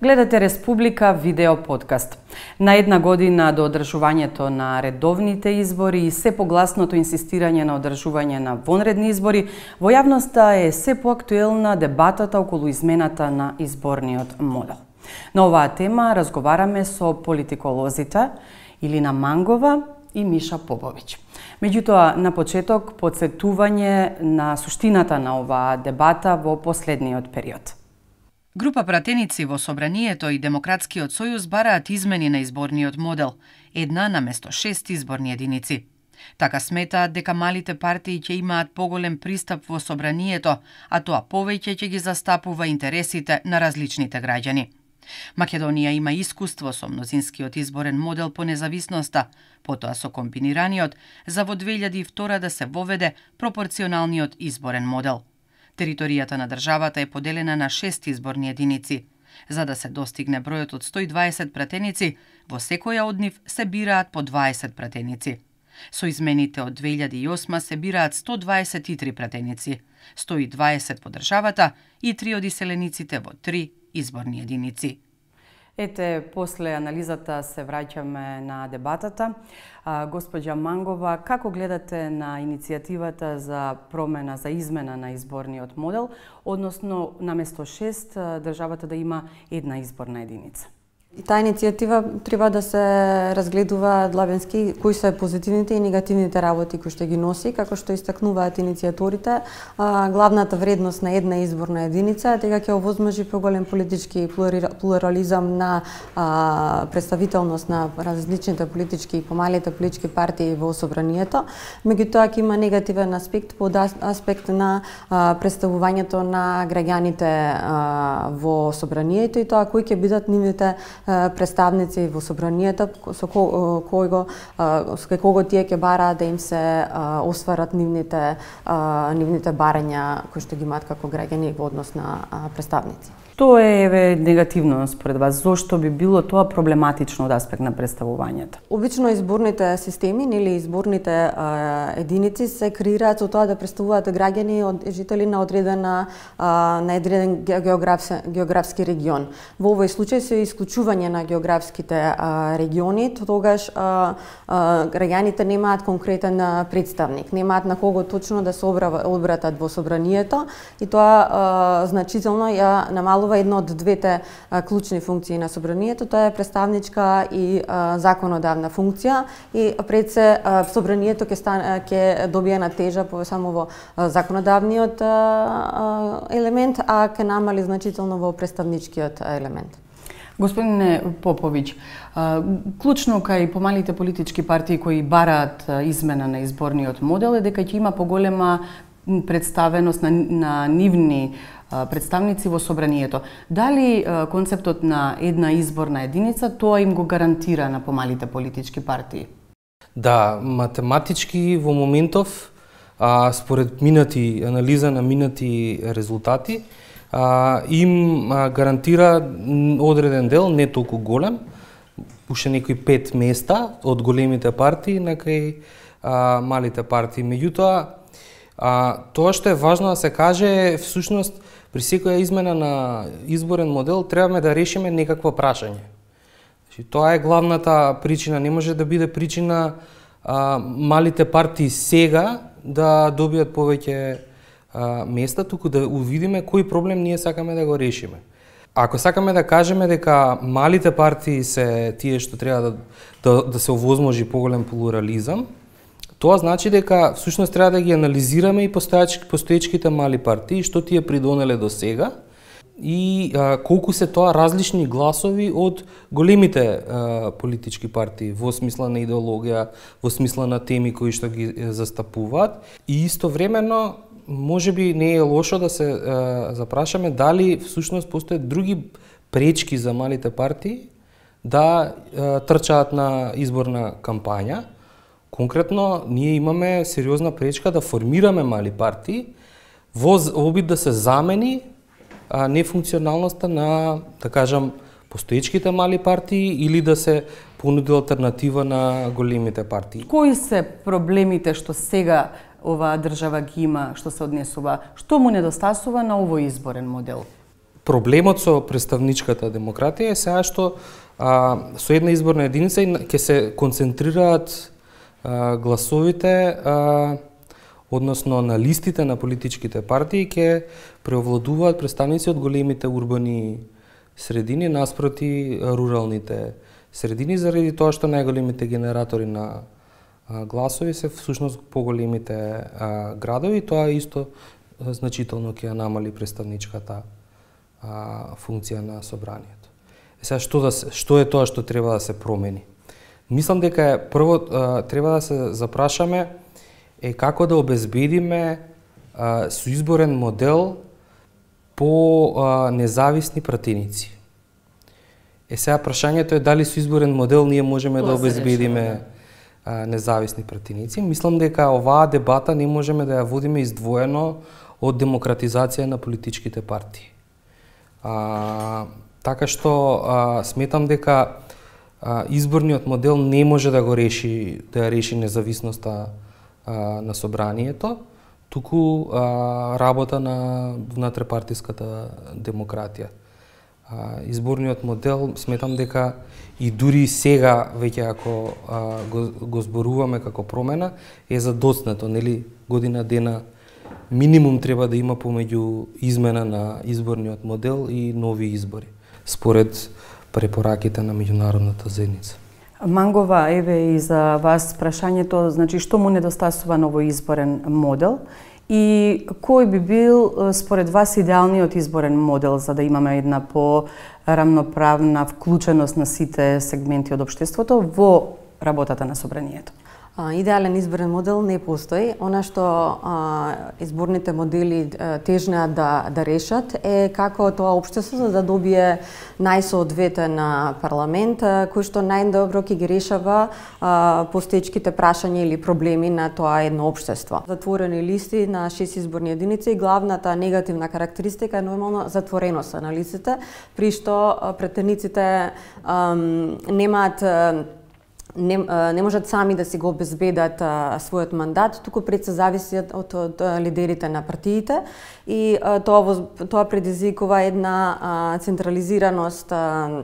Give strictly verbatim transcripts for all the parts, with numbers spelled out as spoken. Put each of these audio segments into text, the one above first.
Гледате Республика видео подкаст. На една година до одржувањето на редовните избори и се погласното инсистирање на одржување на вонредни избори, во јавноста е се поактуелна дебатата околу измената на изборниот модел. На оваа тема разговараме со политиколозите Илина Мангова и Миша Поповиќ. Меѓутоа, на почеток, потсетување на суштината на оваа дебата во последниот период. Група пратеници во Собранието и Демократскиот сојуз бараат измени на изборниот модел, една наместо шест изборни единици. Така сметаат дека малите партии ќе имаат поголем пристап во Собранието, а тоа повеќе ќе ги застапува интересите на различните граѓани. Македонија има искуство со мнозинскиот изборен модел по независноста, потоа со комбинираниот, за во две илјади и втора да се воведе пропорционалниот изборен модел. Територијата на државата е поделена на шест изборни единици. За да се достигне бројот од сто и дваесет пратеници, во секоја од нив се бираат по дваесет пратеници. Со измените од две илјади и осма се бираат сто дваесет и три пратеници, сто и дваесет по државата и три од иселениците во три изборни единици. Ете, после анализата се враќаме на дебатата. А, госпоѓа Мангова, како гледате на иницијативата за промена, за измена на изборниот модел, односно наместо шест државата да има една изборна единица? И таа иницијатива треба да се разгледува длабенски кои се позитивните и негативните работи кои што ги носи, како што истакнуваат иницијаторите. Главната вредност на една изборна единица е дека ќе овозможи поголем политички плурализам на представителност на различните политички и помалите политички партии во Собранието. Меѓутоа ќе има негативен аспект по аспект на представувањето на граѓаните во Собранието и тоа кои ќе бидат нивните представници во Собранието, со кој го со кого тие ќе бараат да им се осварат нивните нивните барања кои што ги имаат како граѓани во однос на представници. Тоа е еве негативно според вас. Зошто би било тоа проблематично од аспект на представувањето? Обично изборните системи или изборните а, единици се креираат со тоа да представуваат граѓани од жители на одредена а, на одреден географски, географски регион. Во овој случај се исклучување на географските а, региони, тогаш а, а, граѓаните немаат конкретен представник, немаат на кого точно да се обратат во Собранието и тоа а, значително ја намалува една од двете а, клучни функции на Собранието, тоа е представничка и а, законодавна функција и пред се а, Собранието ќе стане ќе добие на тежа по само во а, законодавниот а, а, елемент, а ќе намали значително во представничкиот елемент. Господине Поповиќ, клучно кај помалите политички партии кои бараат измена на изборниот модел е дека ќе има поголема представеност на, на нивни представници во Собранието. Дали концептот на една изборна единица тоа им го гарантира на помалите политички партии? Да, математички во моментов, а, според минати анализа на минати резултати, а, им а, гарантира одреден дел, не толку голем, уште некои пет места од големите партии на кај а, малите партии. Меѓутоа, а, тоа што е важно да се каже е всушност при секоја измена на изборен модел требаме да решиме некакво прашање. Значи, тоа е главната причина, не може да биде причина а, малите партии сега да добијат повеќе а, места, туку да увидиме кој проблем ние сакаме да го решиме. Ако сакаме да кажеме дека малите партии се тие што треба да, да, да се овозможи поголем плурализам, тоа значи дека всушност треба да ги анализираме и постоечките мали партии, што тие придонеле до сега и а, колку се тоа различни гласови од големите а, политички партии во смисла на идеологија, во смисла на теми кои што ги застапуваат. И истовремено можеби не е лошо да се а, запрашаме дали всушност постојат други пречки за малите партии да а, трчаат на изборна кампања. Конкретно, ние имаме сериозна пречка да формираме мали партии во обид да се замени а, нефункционалноста на, да кажам, постоечките мали партии или да се понуди алтернатива на големите партии. Кои се проблемите што сега оваа држава ги има, што се однесува, што му недостасува на овој изборен модел? проблемот со представничката демократија е сега што а, со една изборна единица ќе се концентрираат а, гласовите, а, односно на листите на политичките партии ќе преовладуваат представници од големите урбани средини наспроти руралните средини, заради тоа што најголемите генератори на а, гласови се всушност поголемите а, градови, тоа исто значително ќе ја намали представничката а, функција на собранието. Е сега што да се, што е тоа што треба да се промени? Мислам дека е прво а, треба да се запрашаме е како да обезбедиме а, соизборен модел по а, независни пратеници. Е сега прашањето е дали соизборен модел ние можеме да обезбедиме а, независни пратеници. Мислам дека оваа дебата не можеме да ја водиме издвоено од демократизација на политичките партии. А, така што а, сметам дека а, изборниот модел не може да го реши, да ја реши независноста а, на собранието, туку а, работа на внатрепартиската демократија. А, изборниот модел сметам дека и дури сега веќе ако а, го, го зборуваме како промена е задоцнато, нели, година дена минимум треба да има помеѓу измена на изборниот модел и нови избори, според препораките на меѓународната заедница. Мангова, еве и за вас прашањето, значи што му недостасува новој изборен модел и кој би бил според вас идеалниот изборен модел за да имаме една по-рамноправна вклученост на сите сегменти од општеството во работата на собранието? Идеален изборен модел не постои. Она што а, изборните модели а, тежнеат да, да решат е како тоа општество да добие најсоодветен парламент а, кој што најдобро ќе ги решава а, постоечките прашања или проблеми на тоа едно општество. Затворени листи на шест изборни единици и главната негативна карактеристика е нормално затвореност на листите, при што претениците а, немаат а, Не, не можат сами да си го обезбедат а, својот мандат, туку пред се зависат од, од, од лидерите на партиите и а, тоа, тоа предизвикува една а, централизираност а,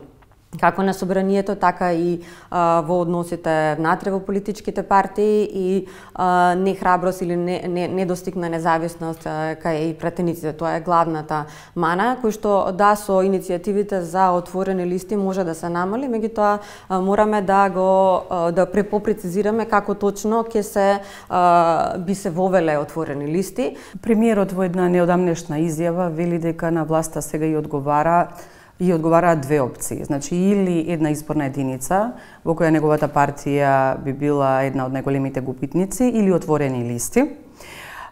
како на собранието, така и а, во односите внатре во политичките партии и а, нехраброст или не, не, недостигна независност а, кај пратениците. Тоа е главната мана, кој што да со иницијативите за отворени листи може да се намали, меѓутоа мораме да го а, да препопрецизираме како точно ќе се а, би се вовеле отворени листи. Премиерот во една неодамнешна изјава вели дека на власта сега и одговара и одговараат две опции. Значи, или една изборна единица, во која неговата партија би била една од најголемите губитници, или отворени листи.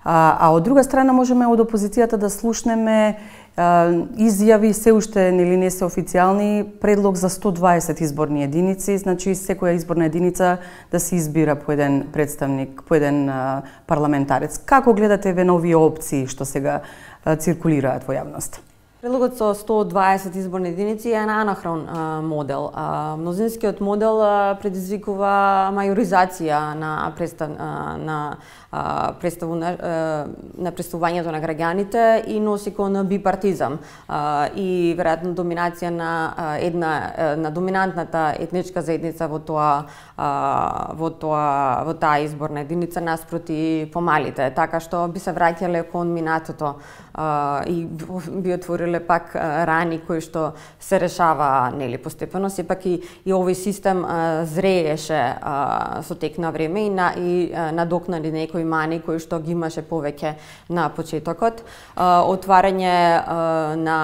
А, а од друга страна можеме од опозицијата да слушнеме а, изјави, се уште нели не се официјални, предлог за сто дваесет изборни единици, значи секоја изборна единица да се избира по еден представник, по еден а, парламентарец. Како гледате ве на овие опции што сега а, циркулираат во јавност? Предлогот со сто дваесет изборни единици е на анахрон а, модел. А, мнозинскиот модел а, предизвикува мајоризација на представ, а, на а, представу на, а, на представувањето на граѓаните и носи кон бипартизам а, и веројатно доминација на а, една на доминантната етничка заедница во тоа а, во тоа во таа изборна единица наспроти помалите, така што би се враќале кон минатото а, и би отвориле пак рани кои што се решава нели постепено, сепак и, и овој систем а, зрееше а, со тек на време и на и а, надокнади некои мани кои што ги имаше повеќе на почетокот. А, отварање а, на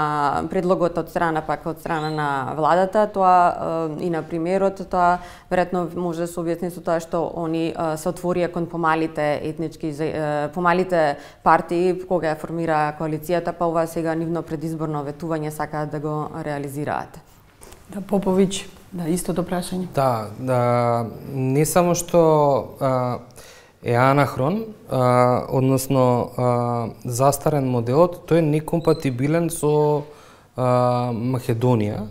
предлогот од страна пак од страна на владата, тоа а, и на премиерот, тоа веројатно може да се објасни со тоа што они а, се отворија кон помалите етнички а, помалите партии кога ја формира коалицијата, па ова сега нивно предизборно ветување сакаат да го реализираат. Да, Поповиќ, да, истото прашање. Да, да, не само што а, е анахрон, а, односно а, застарен моделот, тој е некомпатибилен со а, Македонија,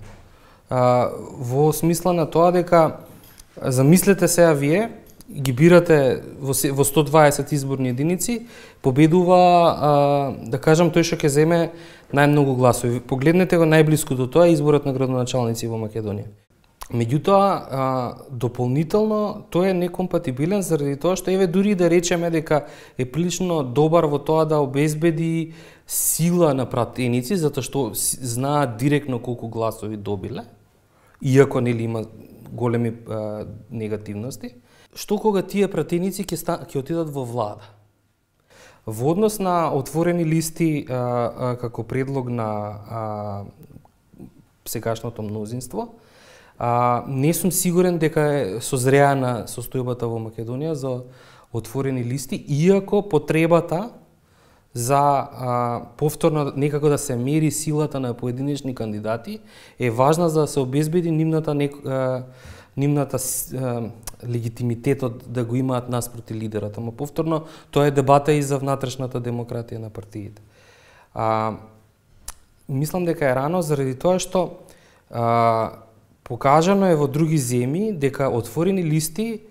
а, во смисла на тоа дека замислете сега вие, ги бирате во, во сто дваесет изборни единици, победува, а, да кажам, тој што ќе земе најмногу гласови. Погледнете го најблиску до тоа изборот на градоначалници во Македонија. Меѓутоа, дополнително, тој е некомпатибилен заради тоа што, еве, дури да речеме дека е прилично добар во тоа да обезбеди сила на пратеници, затоа што знаат директно колку гласови добиле, иако нели има големи а, негативности, што кога тие пратеници ќе ќе отидат во влада. Во однос на отворени листи а, а, како предлог на а, сегашното мнозинство, а, не сум сигурен дека е созреана состојбата во Македонија за отворени листи, иако потребата за а, повторно некако да се мери силата на поединечни кандидати е важна за да се обезбеди нивната нек, а, нивната а, легитимитетот да го имаат наспроти лидерот. Ама повторно тоа е дебата и за внатрешната демократија на партиите. А, мислам дека е рано заради тоа што а, покажано е во други земји дека отворени листи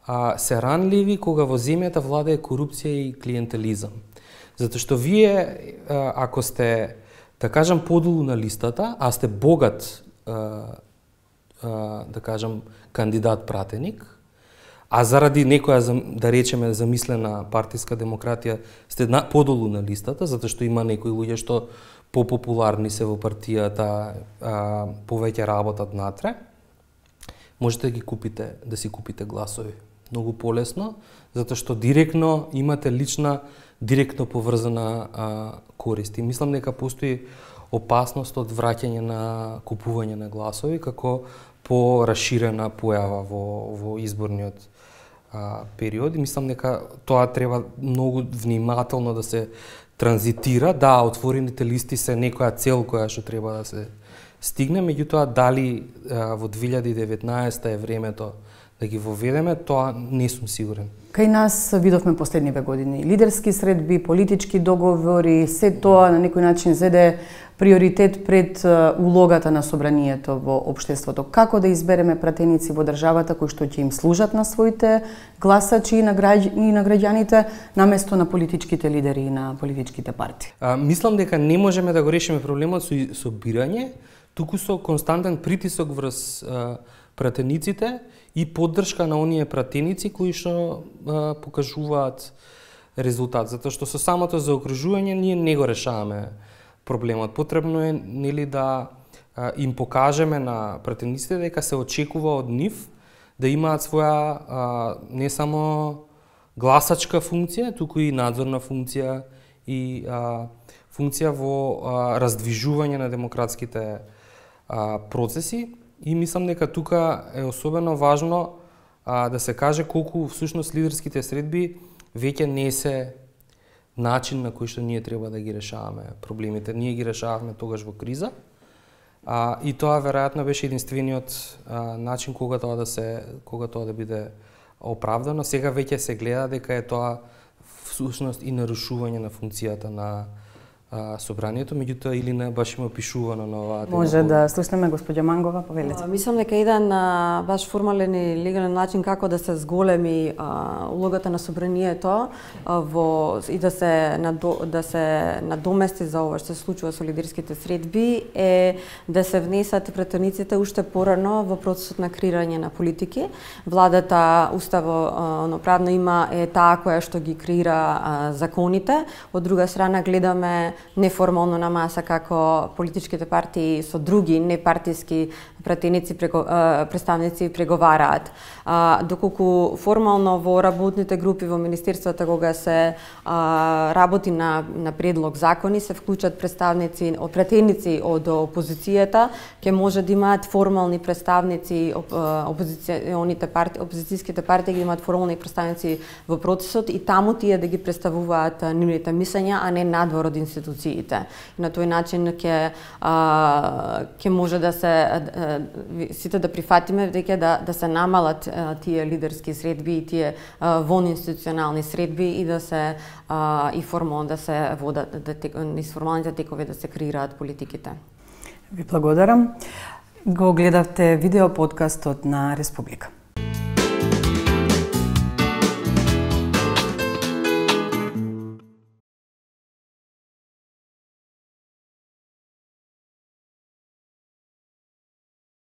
а, се ранливи кога во земјата владее корупција и клиентелизам. Затоа што вие, ако сте, да кажам, подолу на листата, а сте богат, да кажам, кандидат-пратеник, а заради некоја, да речеме, замислена партиска демократија, сте подолу на листата, затоа што има некои луѓе што попопуларни се во партијата, повеќе работат натре, можете да ги купите, да си купите гласови. Многу полесно, затоа што директно имате лична, директно поврзана а, корист. И мислам дека постои опасност од враќање на купување на гласови како пораширена појава во, во изборниот а, период. И мислам дека тоа треба многу внимателно да се транзитира. Да, отворените листи се некоја цел која што треба да се стигне, меѓутоа дали а, во две илјади и деветнаесета е времето да ги воведеме, тоа не сум сигурен. Кај нас видовме последниве години лидерски средби, политички договори, се тоа на некој начин зеде приоритет пред улогата на собранието во општеството. Како да избереме пратеници во државата кои што ќе им служат на своите гласачи и на, граѓ... и на граѓаните, наместо на политичките лидери и на политичките партии? А, мислам дека не можеме да го решиме проблемот со, со бирање, туку со константен притисок врз а, пратениците и поддршка на оние пратеници кои што а, покажуваат резултат, затоа што со самото заокружување ние не го решаваме проблемот. Потребно е нели да а, им покажеме на пратениците дека се очекува од нив да имаат своја а, не само гласачка функција, туку и надзорна функција и а, функција во а, раздвижување на демократските а, процеси. И мислам дека тука е особено важно а, да се каже колку всушност лидерските средби веќе не се начин на кој што ние треба да ги решаваме проблемите. Ние ги решававме тогаш во криза, а, и тоа веројатно беше единствениот а, начин кога тоа да се кога тоа да биде оправдано. Сега веќе се гледа дека е тоа всушност и нарушување на функцијата на собранието, меѓутоа или не баш има опишувано на оваа тема. Може да слушнеме госпоѓа Мангова, повелете. Мислам дека еден а, баш формален и легален начин како да се зголеми а, улогата на собранието а, во и да се надо, да се надомести за ова што се случува со лидерските средби е да се внесат пратениците уште порано во процесот на креирање на политики. Владата уставно правно има е таа која што ги креира а, законите. Од друга страна гледаме неформално на маса како политичките партии со други непартиски пратеници прего, представници преговараат. А, доколку формално во работните групи во министерствата кога се а, работи на, на предлог закони се вклучат представници од пратеници од опозицијата, ќе може да имаат формални представници опозиционите партии, опозицијските партии ги имаат формални представници во процесот и таму тие да ги представуваат нивните мислења, а не надвор од институциите. И на тој начин ќе ќе може да се сите да прифатиме дека да да се намалат а, тие лидерски средби и тие вонинституционални средби и да се а, и формално да се водат да низ формалните текови да се креираат политиките. Ви благодарам. Го гледавте видео подкастот на Республика.